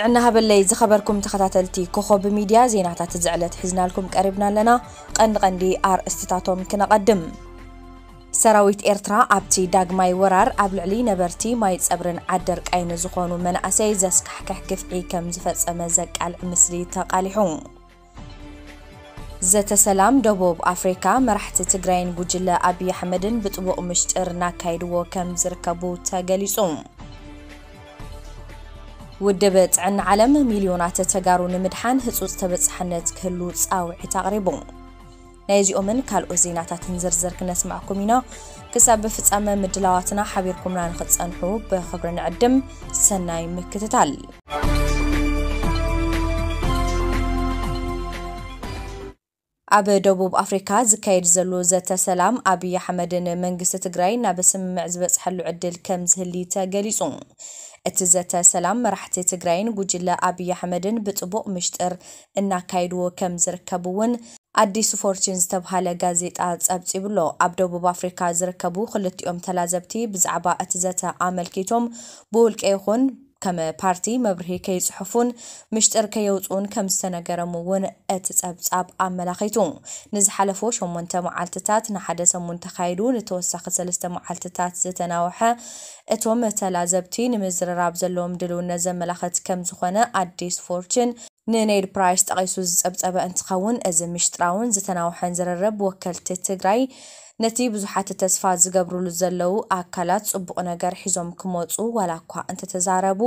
እናሃበለይ ዝኸበርኩም ተኸታተልቲ ኮኸብ ሚድያ፣ ዜናታት እዚ ዕለት ሒዝናልኩም ቀሪብና ኣለና። ቀንዲ ቀንዲ ኣርእስትታቶም ክነቐድም። ሰራዊት ኤርትራ ኣብቲ ዳግማይ ወራር ኣብ ልዕሊ ነበርቲ ማይ ጸብርን ዓደርቃይን ዝኾኑ መናእሰይ ዘስካሕክሕ ግፍዒ ከም ዝፈጸመ ዘቃልዕ ምስሊ ተቓሊሑ። ዘተ ሰላም ደቡብ ኣፍሪካ፣ መራሕቲ ትግራይን ጉጅለ ኣብይ ኣሕመድን ብጥቡቕ ምሽጥር እናካየድዎ ከም ዝርከቡ ተገሊጹ። ውድብ ጥዕና ዓለም ሚልዮናት ተጋሩ ንምድሓን ህጹጽ ተበጻሕነት ክህሉ ጻውዒት ኣቕሪቡ። ናይዚኦምን ካልኦት ዜናታትን ዝርዝር ክነስማዕኩም ኢና። ክሳብ ፍጻመ ምድላዋትና ሓቢርኩምና ንኽትጸንሑ ብኽብሪ ንዕድም። ሰናይ ምክትታል። ኣብ ደቡብ ኣፍሪካ ዝካየድ ዘሎ ዘተ ሰላም ኣብይ ኣሕመድን መንግስቲ ትግራይ ናብ ስምምዕ ዝበፅሐሉ ዕድል ከም ዝህሊ ተገሊፁ። እቲ ዘተ ሰላም መራሕቲ ትግራይን ጉጅለ ኣብይ ኣሕመድን ብጥቡቕ ምሽጥር እናካየድዎ ከም ዝርከብ እውን ኣዲስ ፎርችን ዝተብሃለ ጋዜጣ ጸብጺቡ ኣሎ። ኣብ ደቡብ ኣፍሪካ ዝርከቡ ክልቲኦም ተላዘብቲ ብዛዕባ እቲ ዘተ ኣመልኪቶም ብውልቀ ይኹን ከም ፓርቲ መብርሂ ከይጽሕፉን ምሽጥር ከየውጽኡን ከም ዝተነገሮም እውን እቲ ጸብጻብ ኣመላኺቱ። ንዝሓለፉ ሸሞንተ መዓልትታት ንሓደ ሰሙን ተኻይዱ ንተወሳኺ ሰለስተ መዓልትታት ዝተናውሐ እቶም ተላዘብቲ ንምዝርራብ ዘለዎም ድልውነት ዘመላኽት ከም ዝኾነ ኣዲስ ፎርችን ንኔድ ፕራይስ ጠቒሱ ዝጸብጸበ እንትኸውን፣ እዚ ምሽጥራውን ዝተናውሐን ዝርርብ ወከልቲ ትግራይ ነቲ ብዙሓት ተስፋ ዝገብሩሉ ዘለዉ ኣካላት ጽቡቕ ነገር ሒዞም ክመጹ ዋላ እኳ እንተተዛረቡ፣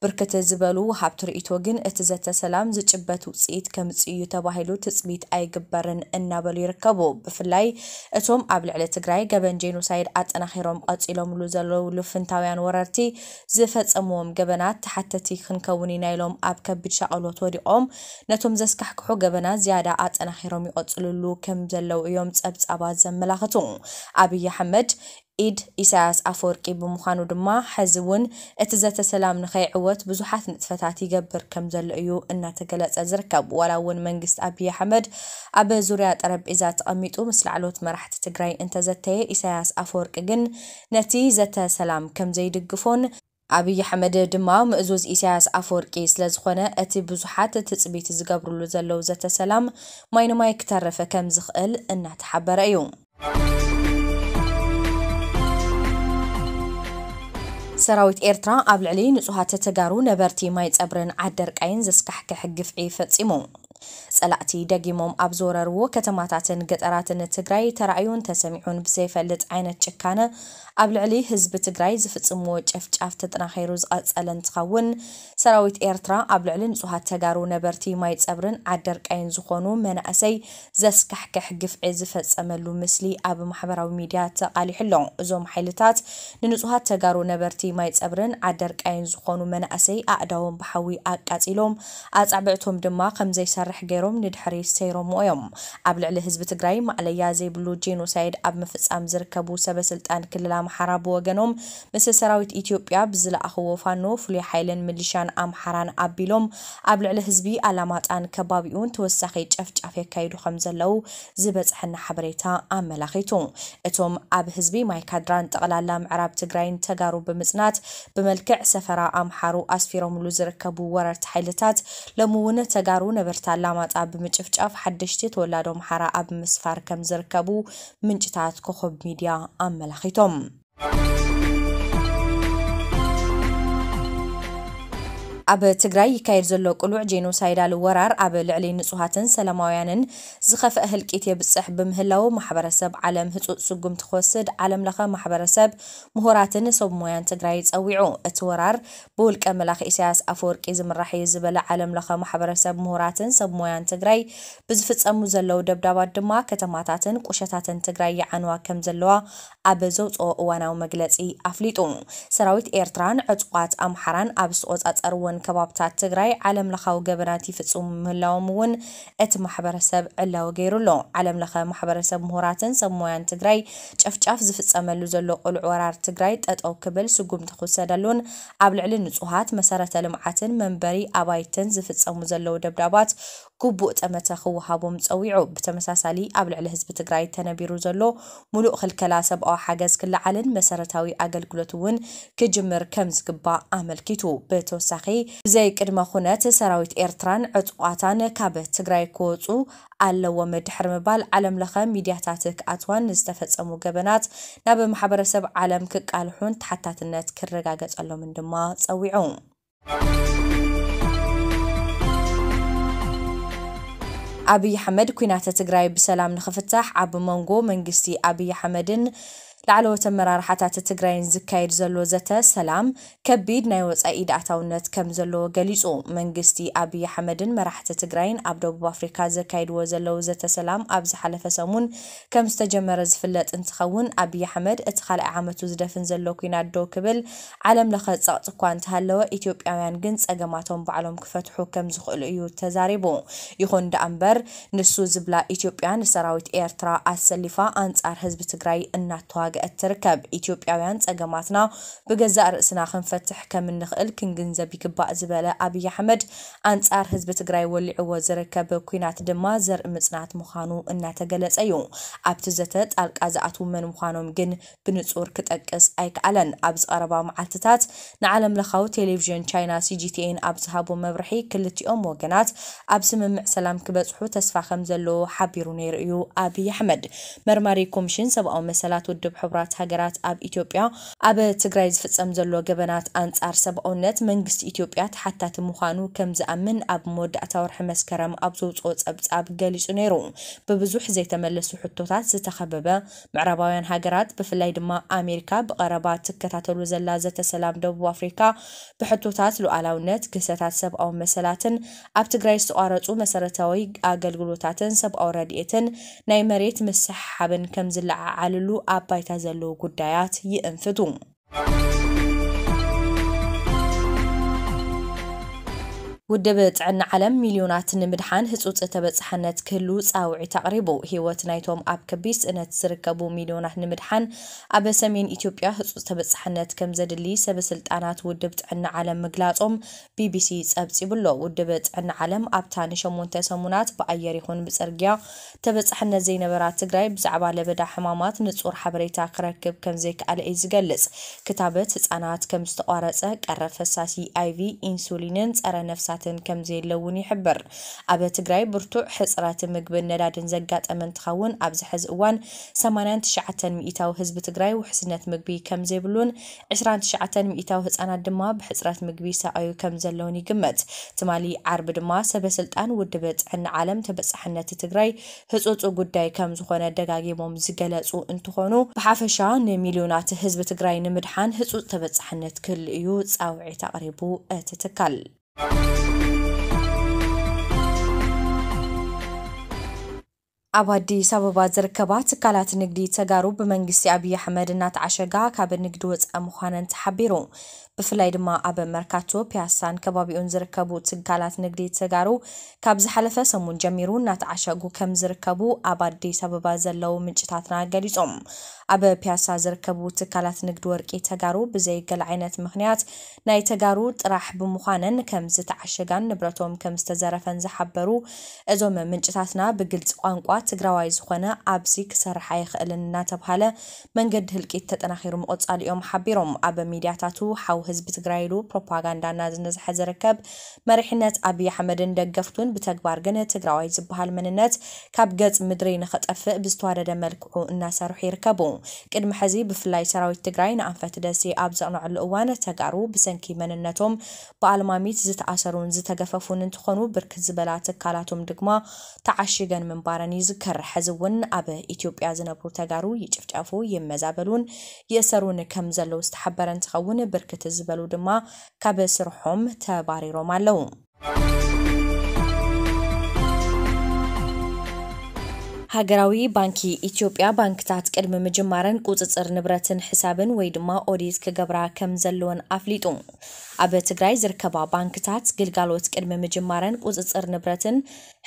ብርክት ዝበሉ ወሃብቲ ርእይቶ ግን እቲ ዘተ ሰላም ዝጭበት ውጽኢት ከምጽእ እዩ ተባሂሉ ትጽቢት ኣይግበርን እናበሉ ይርከቡ። ብፍላይ እቶም ኣብ ልዕሊ ትግራይ ገበን ጄኖሳይድ ኣጠናኺሮም ቀጺሎምሉ ዘለዉ ልፍንታውያን ወረርቲ ዝፈጸምዎም ገበናት ተሓተቲ ክንከውን ኢና ኢሎም ኣብ ከቢድ ሻቐሎት ወዲቖም ነቶም ዘስካሕክሑ ገበናት ዝያዳ ኣጠናኺሮም ይቐጽልሉ ከም ዘለዉ እዮም ጸብጻባት ዘመላኽቱ። ኣብይ ኣሕመድ ኢድ ኢሳያስ ኣፈወርቂ ብምዃኑ ድማ፣ ሕዚ እውን እቲ ዘተ ሰላም ንኸይዕወት ብዙሓት ንጥፈታት ይገብር ከም ዘሎ እዩ እናተገለጸ ዝርከብ። ዋላ እውን መንግስቲ ኣብይ ኣሕመድ ኣብ ዙርያ ጠረጴዛ ተቐሚጡ ምስ ላዕሎት መራሕቲ ትግራይ እንተዘተየ፣ ኢሳያስ ኣፈወርቂ ግን ነቲ ዘተ ሰላም ከም ዘይድግፎን ኣብይ ኣሕመድ ድማ ምእዙዝ ኢሳያስ ኣፈወርቂ ስለ ዝኾነ፣ እቲ ብዙሓት ትጽቢት ዝገብርሉ ዘለዉ ዘተ ሰላም ማይ ንማይ ክተርፍ ከም ዝኽእል እናተሓበረ እዩ። ሰራዊት ኤርትራ ኣብ ልዕሊ ንጹሃት ተጋሩ ነበርቲ ማይ ጸብርን ዓደርቃይን ዘስካሕክሕ ግፍዒ ፈጺሙ። ጸላእቲ ደጊሞም ኣብ ዝወረርዎ ከተማታትን ገጠራትን ትግራይ ተራእዩን ተሰሚዑን ብዘይፈልጥ ዓይነት ጭካነ ኣብ ልዕሊ ህዝቢ ትግራይ ዝፍጽምዎ ጨፍጫፍ ተጠናኺሩ ዝቐጸለ እንትኸውን፣ ሰራዊት ኤርትራ ኣብ ልዕሊ ንጹሃት ተጋሩ ነበርቲ ማይ ጸብርን ዓደርቃይን ዝኾኑ መናእሰይ ዘስካሕክሕ ግፍዒ ዝፈጸመሉ ምስሊ ኣብ ማሕበራዊ ሚድያ ተቓሊሑ ኣሎ። እዞም ሓይልታት ንንጹሃት ተጋሩ ነበርቲ ማይ ጸብርን ዓደርቃይን ዝኾኑ መናእሰይ ኣእዳዎም ብሓዊ ኣቃጺሎም፣ ኣጻብዕቶም ድማ ከም ዘይሰርሕ ገይሮም ንድሕሪት ሰይሮምዎ እዮም። ኣብ ልዕሊ ህዝቢ ትግራይ ማዕለያ ዘይብሉ ጄኖሳይድ ኣብ ምፍጻም ዝርከቡ ሰበ ስልጣን ክልል ኣምሓራ ብወገኖም፣ ምስ ሰራዊት ኢትዮጵያ ብዝለኣኽዎ ፋኖ፣ ፍሉይ ሓይልን ምሊሻን ኣምሓራን ኣቢሎም ኣብ ልዕሊ ህዝቢ ኣላማጣን ከባቢኡን ተወሳኺ ጨፍጫፍ የካይዱ ከም ዘለዉ ዝበጽሐና ሓበሬታ ኣመላኺቱ። እቶም ኣብ ህዝቢ ማይካድራን ጠቕላላ ምዕራብ ትግራይን ተጋሩ ብምጽናት ብመልክዕ ሰፈራ ኣምሓሩ ኣስፊሮምሉ ዝርከቡ ወረርቲ ሓይልታት፣ ሎሚ እውን ተጋሩ ነበርቲ ኣላማጣ ብምጭፍጫፍ ሓደሽቲ ተወላዶ ኣምሓራ ኣብ ምስፋር ከም ዝርከቡ ምንጭታት ኮኸብ ሚድያ ኣመላኺቶም። ኣብ ትግራይ ይካየድ ዘሎ ቅሉዕ ጄኖሳይዳል ወራር ኣብ ልዕሊ ንጹሃትን ሰላማውያንን ዝኸፍአ ህልቂት የብጽሕ ብምህላው፣ ማሕበረሰብ ዓለም ህጹጽ ስጉምቲ ክወስድ ዓለም ለኸ ማሕበረሰብ ምሁራትን ሰብ ሞያን ትግራይ ጸዊዑ። እቲ ወራር ብውልቀ መላኺ ኢሳያስ ኣፈወርቂ ዝምራሕ እዩ ዝበለ ዓለም ለኸ ማሕበረሰብ ምሁራትን ሰብ ሞያን ትግራይ፣ ብዝፍጸሙ ዘለዉ ደብዳባት ድማ ከተማታትን ቁሸታትን ትግራይ ይዓንዋ ከም ዘለዋ ኣብ ዘውፅኦ እዋናዊ መግለፂ ኣፍሊጡ። ሰራዊት ኤርትራን ዕጡቓት ኣምሓራን ኣብ ዝተቖጻጸርወን ከባብታት ትግራይ ዓለም ለኻዊ ገበናት ይፍጽሙ ምህላዎም እውን እቲ ማሕበረሰብ ዕላዊ ገይሩ ኣሎ። ዓለም ለኸ ማሕበረሰብ ምሁራትን ሰብ ሞያን ትግራይ ጨፍጫፍ ዝፍጸመሉ ዘሎ ቅሉዕ ወራር ትግራይ ጠጠው ክብል፣ ስጉምቲ ክውሰደሉን ኣብ ልዕሊ ንጹሃት መሰረተ ልምዓትን መንበሪ ኣባይትን ዝፍጸሙ ዘለዉ ደብዳባት ግቡእ ጠመተ ክወሃቦም ጸዊዑ። ብተመሳሳሊ ኣብ ልዕሊ ህዝቢ ትግራይ ተነቢሩ ዘሎ ሙሉእ ክልከላ ሰብኣዊ ሓገዝ ክለዓልን መሰረታዊ ኣገልግሎት እውን ክጅምር ከም ዝግባእ ኣመልኪቱ። ብተወሳኺ ብዘይ ቅድመ ኩነት ሰራዊት ኤርትራን ዕጡቓታን ካብ ትግራይ ክወፁ ኣለዎም ድሕሪ ምባል፣ ዓለም ለኸ ሚድያታት ክኣትዋን ዝተፈጸሙ ገበናት ናብ ማሕበረሰብ ዓለም ክቃልሑን ተሓታትነት ክረጋገጸሎምን ድማ ጸዊዑ። ኣብይ ኣሕመድ፣ ኩናት ትግራይ ብሰላም ንኽፍታሕ ኣብ መንጎ መንግስቲ ኣብይ ኣሕመድን ላዕለዎት ኣመራርሓታት ትግራይን ዝካየድ ዘሎ ዘተ ሰላም ከቢድ ናይ ወጻኢ ኢድ ኣታውነት ከም ዘለዎ ገሊጹ። መንግስቲ ኣብይ ኣሕመድን መራሕቲ ትግራይን ኣብ ደቡብ ኣፍሪካ ዘካይድዎ ዘለዉ ዘተ ሰላም ኣብ ዝሓለፈ ሰሙን ከም ዝተጀመረ ዝፍለጥ እንትኸውን፣ ኣብይ ኣሕመድ እቲ ካልኣይ ዓመቱ ዝደፍን ዘሎ ኩናት ደው ክብል ዓለም ለኸ ጸቕጢ እኳ እንተሃለወ፣ ኢትዮጵያውያን ግን ጸገማቶም ባዕሎም ክፈትሑ ከም ዝኽእሉ እዩ ተዛሪቡ። ይኹን ደኣ እምበር፣ ንሱ ዝብላ ኢትዮጵያ ንሰራዊት ኤርትራ ኣሰሊፋ ኣንጻር ህዝቢ ትግራይ እናተዋግአት ትርከብ። ኢትዮጵያውያን ጸገማትና ብገዛእ ርእስና ክንፈትሕ ከም እንኽእል ክንግንዘብ ይግባእ ዝበለ ኣብይ ኣሕመድ፣ ኣንጻር ህዝቢ ትግራይ ወሊዕዎ ዝርከብ ኩናት ድማ ዘርኢ ምጽናት ምዃኑ እናተገለጸ እዩ። ኣብቲ ዘተ ጣልቃ ዝኣትዉ መን ምዃኖም ግን ብንጹር ክጠቅስ ኣይከኣለን። ኣብዚ ቀረባ መዓልትታት ንዓለም ለኻዊ ቴሌቪዥን ቻይና ሲጂቲኤን ኣብ ዝሃቦ መብርሒ፣ ክልቲኦም ወገናት ኣብ ስምምዕ ሰላም ክበጽሑ ተስፋ ከም ዘለዎ ሓቢሩ ነይሩ እዩ ኣብይ ኣሕመድ። መርማሪ ኮሚሽን ሰብኣዊ መሰላት ውድብ ሕቡራት ሃገራት ኣብ ኢትዮጵያ ኣብ ትግራይ ዝፍጸም ዘሎ ገበናት ኣንጻር ሰብኣውነት መንግስቲ ኢትዮጵያ ተሓታቲ ምዃኑ ከም ዝኣምን ኣብ መወዳእታ ወርሒ መስከረም ኣብ ዘውፅኦ ጸብጻብ ገሊጹ ነይሩ። ብብዙሕ ዘይተመለሱ ሕቶታት ዝተኸበበ፣ ምዕራባውያን ሃገራት ብፍላይ ድማ ኣሜሪካ ብቐረባ ትከታተሉ ዘላ ዘተ ሰላም ደቡብ ኣፍሪካ ብሕቶታት ሉዓላውነት፣ ግህሰታት ሰብኣዊ መሰላትን ኣብ ትግራይ ዝተቋረጹ መሰረታዊ ኣገልግሎታትን ሰብኣዊ ረድኤትን ናይ መሬት ምስሕሓብን ከም ዝለዓዓልሉ ኣብ ባይታ ዘለዉ ጉዳያት ይእንፍቱ። ውድብ ጥዕና ዓለም ሚልዮናት ንምድሓን ህጹጽ ተበጻሕነት ክህሉ ጻውዒት ኣቕሪቡ። ህይወት ናይቶም ኣብ ከቢድ ስእነት ዝርከቡ ሚልዮናት ንምድሓን ኣብ ሰሜን ኢትዮጵያ ህጹጽ ተበጻሕነት ከም ዘድሊ ሰበ ስልጣናት ውድብ ጥዕና ዓለም ምግላጾም ቢቢሲ ጸብጺቡ ኣሎ። ውድብ ጥዕና ዓለም ኣብታ ንሸሞንተ ሰሙናት ብኣየር ይኹን ብጽርግያ ተበጻሕነት ዘይነበራ ትግራይ ብዛዕባ ለበዳ ሕማማት ንጹር ሓበሬታ ክረክብ ከም ዘይከኣለ እዩ ዝገልጽ። ክታበት ህጻናት ከም ዝተቋረጸ፣ ቀረብ ፈሳሲ ኣይቪ፣ ኢንሱሊንን ጸረ ነፍሳትን ከም ዘየለ እውን ይሕብር። ኣብ ትግራይ ብርቱዕ ሕጽረት ምግብን ነዳድን ዘጋጠመ እንትኸውን፣ ኣብዚ ሕዚ እዋን ሰማንያን ትሽዓተን ሚእታዊ ህዝቢ ትግራይ ውሕስነት ምግቢ ከም ዘይብሉን ዕስራን ትሽዓተን ሚእታዊ ህጻናት ድማ ብሕጽረት ምግቢ ይሳቐዩ ከም ዘለውን ይግመት። ትማሊ ዓርቢ ድማ ሰበ ስልጣን ውድብ ጥዕና ዓለም ተበጻሕነት ትግራይ ህጹጽ ጉዳይ ከም ዝኾነ ደጋጊሞም ዝገለጹ እንትኾኑ፣ ብሓፈሻ ንሚልዮናት ህዝቢ ትግራይ ንምድሓን ህጹጽ ተበጻሕነት ክህሉ እዩ ጻውዒት ኣቕሪቡ እቲ ትካል። ኣብ ኣዲስ ኣበባ ዝርከባ ትካላት ንግዲ ተጋሩ ብመንግስቲ ኣብይ ኣሕመድ እናተዓሸጋ ካብ ንግዲ ወፃኢ ምዃነን ተሓቢሩ። ብፍላይ ድማ ኣብ መርካቶ፣ ፒያሳን ከባቢኡን ዝርከቡ ትካላት ንግዲ ተጋሩ ካብ ዝሓለፈ ሰሙን ጀሚሩ እናተዓሸጉ ከም ዝርከቡ ኣብ ኣዲስ ኣበባ ዘለዉ ምንጭታትና ገሊጾም። ኣብ ፒያሳ ዝርከቡ ትካላት ንግዲ ወርቂ ተጋሩ ብዘይ ገለ ዓይነት ምኽንያት ናይ ተጋሩ ጥራሕ ብምዃነን ከም ዝተዓሸጋን ንብረቶም ከም ዝተዘረፈን ዝሓበሩ እዞም ምንጭታትና፣ ብግልፂ ቋንቋ ትግራዋይ ዝኾነ ኣብዚ ክሰርሕ ኣይኽእልን እናተብሃለ መንገዲ ህልቂት ተጠናኺሩ ምቕፃሉ እዮም ሓቢሮም። ኣብ ሚድያታቱ ሓው ህዝቢ ትግራይ ኢሉ ፕሮፓጋንዳ እናዝነዝሐ ዝርከብ መሪሕነት ኣብይ ኣሕመድን ደገፍቱን ብተግባር ግን ትግራዋይ ዝበሃል መንነት ካብ ገፅ ምድሪ ንኸጠፍእ ብዝተዋደደ መልክዑ እናሰርሑ ይርከቡ። ቅድሚ ሕዚ ብፍላይ ሰራዊት ትግራይ ንኣንፈት ደሴ ኣብ ዘቕንዐሉ እዋን ተጋሩ ብሰንኪ መንነቶም ብኣልማሚት ዝተኣሰሩን ዝተገፈፉን እንትኾኑ፣ ብርክት ዝበላ ትካላቶም ድማ ተዓሺገን ምንባረን ይዝከር። ሕዚ እውን ኣብ ኢትዮጵያ ዝነብሩ ተጋሩ ይጭፍጨፉ፣ ይመዛበሉን ይእሰሩን ከም ዘለዉ ዝተሓበረ እንትኸውን፣ ብርክት ዝበሉ ድማ ካብ ስርሖም ተባሪሮም ኣለዉ። ሃገራዊ ባንኪ ኢትዮጵያ ባንክታት ቅድሚ ምጅማረን ቁፅፅር ንብረትን ሕሳብን ወይ ድማ ኦዲት ክገብራ ከም ዘለወን ኣፍሊጡ። ኣብ ትግራይ ዝርከባ ባንክታት ግልጋሎት ቅድሚ ምጅማረን ቁፅፅር ንብረትን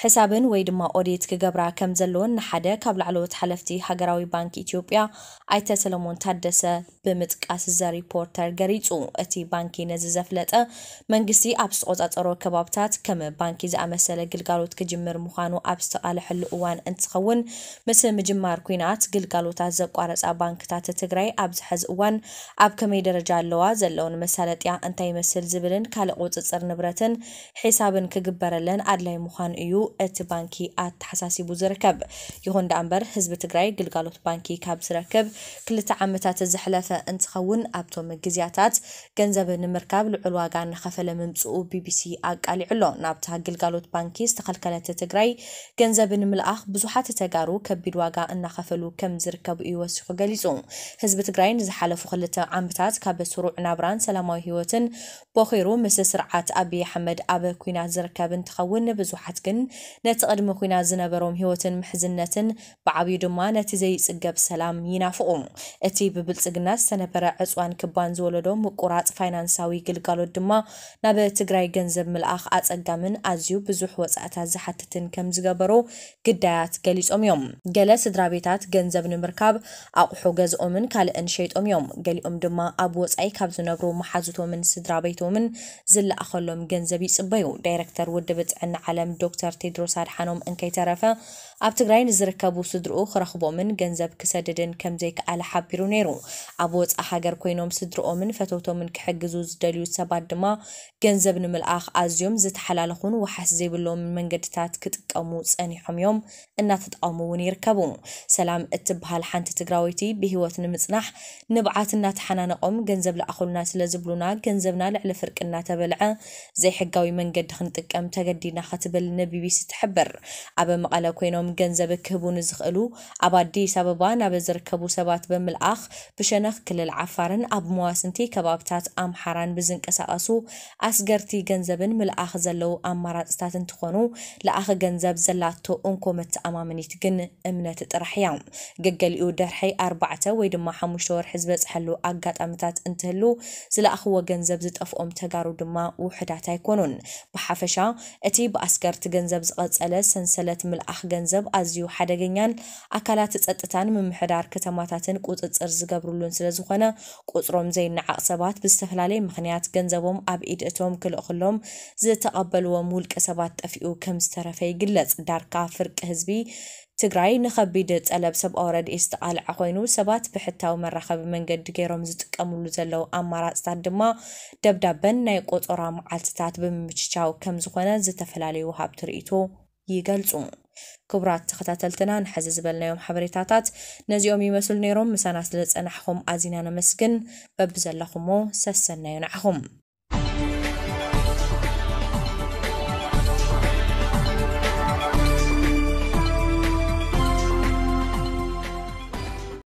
ሕሳብን ወይ ድማ ኦዲት ክገብራ ከም ዘለወን ንሓደ ካብ ላዕለዎት ሓለፍቲ ሃገራዊ ባንክ ኢትዮጵያ ኣይተ ሰለሞን ታደሰ ብምጥቃስ ዘ ሪፖርተር ገሊጹ። እቲ ባንኪ ነዚ ዘፍለጠ፣ መንግስቲ ኣብ ዝተቖጻጸሮ ከባብታት ከም ባንኪ ዝኣመሰለ ግልጋሎት ክጅምር ምዃኑ ኣብ ዝተቓለሐሉ እዋን እንትኸውን፣ እውን ምስ ምጅማር ኲናት ግልጋሎታት ዘቋረፃ ባንክታት ትግራይ ኣብዚ ሕዚ እዋን ኣብ ከመይ ደረጃ ኣለዋ፣ ዘለውን መሳለጥያ እንታይ ይመስል ዝብልን ካልእ ቁፅፅር ንብረትን ሒሳብን ክግበረለን ኣድላይ ምዃኑ እዩ እቲ ባንኪ ኣተሓሳሲቡ ዝርከብ። ይኹን ደኣ እምበር ህዝቢ ትግራይ ግልጋሎት ባንኪ ካብ ዝረክብ ክልተ ዓመታት ዘሕለፈ እንትኸውን ኣብቶም ግዜያታት ገንዘብ ንምርካብ ልዑል ዋጋ እናኸፈለ ምምፅኡ ቢቢሲ ኣቃሊዑ ኣሎ። ናብታ ግልጋሎት ባንኪ ዝተኸልከለት ትግራይ ገንዘብ ንምልኣኽ ብዙሓት ተጋሩ ከቢድ ዋጋ እናኸፈሉ ከም ዝርከቡ እዩ ወሲኹ ገሊፁ። ህዝቢ ትግራይ ንዝሓለፉ ክልተ ዓመታት ካብ ስሩዕ ናብራን ሰላማዊ ህይወትን ቦኺሩ ምስ ስርዓት ኣብይ ኣሕመድ ኣብ ኲናት ዝርከብ እንትኸውን፣ ብዙሓት ግን ነቲ ቅድሚ ኲናት ዝነበሮም ህይወትን ምሕዝነትን ብዓብዩ ድማ ነቲ ዘይጽገብ ሰላም ይናፍቑ። እቲ ብብልጽግና ዝተነበረ ዕጽዋን ክባን ዝወለዶ ምቁራጽ ፋይናንሳዊ ግልጋሎት ድማ ናብ ትግራይ ገንዘብ ምልኣኽ ኣጸጋምን ኣዝዩ ብዙሕ ወጻእታት ዝሓትትን ከም ዝገበሮ ግዳያት ገሊጾም እዮም። ገለ ስድራ ቤታት ገንዘብ ንምርካብ ኣቑሑ ገዝኦምን ካልእን ሸይጦም እዮም። ገሊኦም ድማ ኣብ ወጻኢ ካብ ዝነብሩ መሓዙቶምን ስድራ ቤቶምን ዝለኣኸሎም ገንዘብ ይጽበዩ። ዳይረክተር ውድብ ጥዕና ዓለም ዶክተር ቴድሮስ ኣድሓኖም እንከይተረፈ ኣብ ትግራይ ንዝርከቡ ስድርኡ ክረኽቦምን ገንዘብ ክሰድድን ከም ዘይከኣለ ሓቢሩ ነይሩ። ኣብ ወጻኢ ሃገር ኮይኖም ስድርኦምን ፈተውቶምን ክሕግዙ ዝደልዩ ሰባት ድማ ገንዘብ ንምልኣኽ ኣዝዮም ዝተሓላለኹን ዋሕስ ዘይብሎምን መንገድታት ክጥቀሙ ጸኒሖም እዮም፣ እናተጠቐሙ እውን ይርከቡ። ሰላም እትበሃል ሓንቲ ትግራወይቲ ብህይወት ንምጽናሕ ንብዓት እናተሓናነቖም ገንዘብ ለኣኹልና ስለ ዝብሉና ገንዘብና ልዕሊ ፍርቂ እናተበልዐ ዘይሕጋዊ መንገዲ ክንጥቀም ተገዲድና ክትብል ንቢቢሲ ትሕብር። ኣብ መቐለ ኮይኖም ገንዘብ ክህቡ ንዝኽእሉ ኣብ ኣዲስ ኣበባ ናብ ዝርከቡ ሰባት ብምልኣኽ ብሸነኽ ክልል ዓፋርን ኣብ መዋስንቲ ከባብታት ኣምሓራን ብዝንቀሳቐሱ ኣስገርቲ ገንዘብን ምልኣኽ ዘለዉ ኣማራፅታት እንትኾኑ፣ ለኣኺ ገንዘብ ዘላቶ እንኮ መተኣማመኒት ግን እምነት ጥራሕ እያ። ገገሊኡ ድሕሪ ኣርባዕተ ወይ ድማ ሓሙሽተ ወርሒ ዝበፅሐሉ ኣጋጣሚታት እንትህሉ፣ ዝለኣኽዎ ገንዘብ ዝጠፍኦም ተጋሩ ድማ ውሑዳት ኣይኮኑን። ብሓፈሻ እቲ ብኣስገርቲ ገንዘብ ዝቐጸለ ሰንሰለት ምልኣኽ ገንዘብ ኣዝዩ ሓደገኛን ኣካላት ጸጥታን ምምሕዳር ከተማታትን ቁጽጽር ዝገብርሉን ስለ ዝኾነ፣ ቁጽሮም ዘይነዓቕ ሰባት ብዝተፈላለየ ምኽንያት ገንዘቦም ኣብ ኢድ እቶም ክልእኽሎም ዝተቐበልዎም ውልቀ ሰባት ጠፊኡ ከም ዝተረፈ ይግለጽ። ዳርካ ፍርቂ ህዝቢ ትግራይ ንኸቢድ ጠለብ ሰብኣዊ ረድኤት ዝተቓልዐ ኮይኑ፣ ሰባት ብሕታዊ መራኸቢ መንገዲ ገይሮም ዝጥቀምሉ ዘለዉ ኣማራፅታት ድማ ደብዳበን ናይ ቆጸራ መዓልትታት ብምምችቻው ከም ዝኾነ ዝተፈላለዩ ወሃብቲ ርእይቶ ይገልጹ። ክቡራት ተኸታተልትና፣ ንሕዚ ዝበልናዮም ሓበሬታታት ነዚኦም ይመስሉ ነይሮም። ምሳና ስለ ዝጸናሕኹም ኣዚና ነመስግን። በብዘለኹሞ ሰሰናዩ ንዓኹም።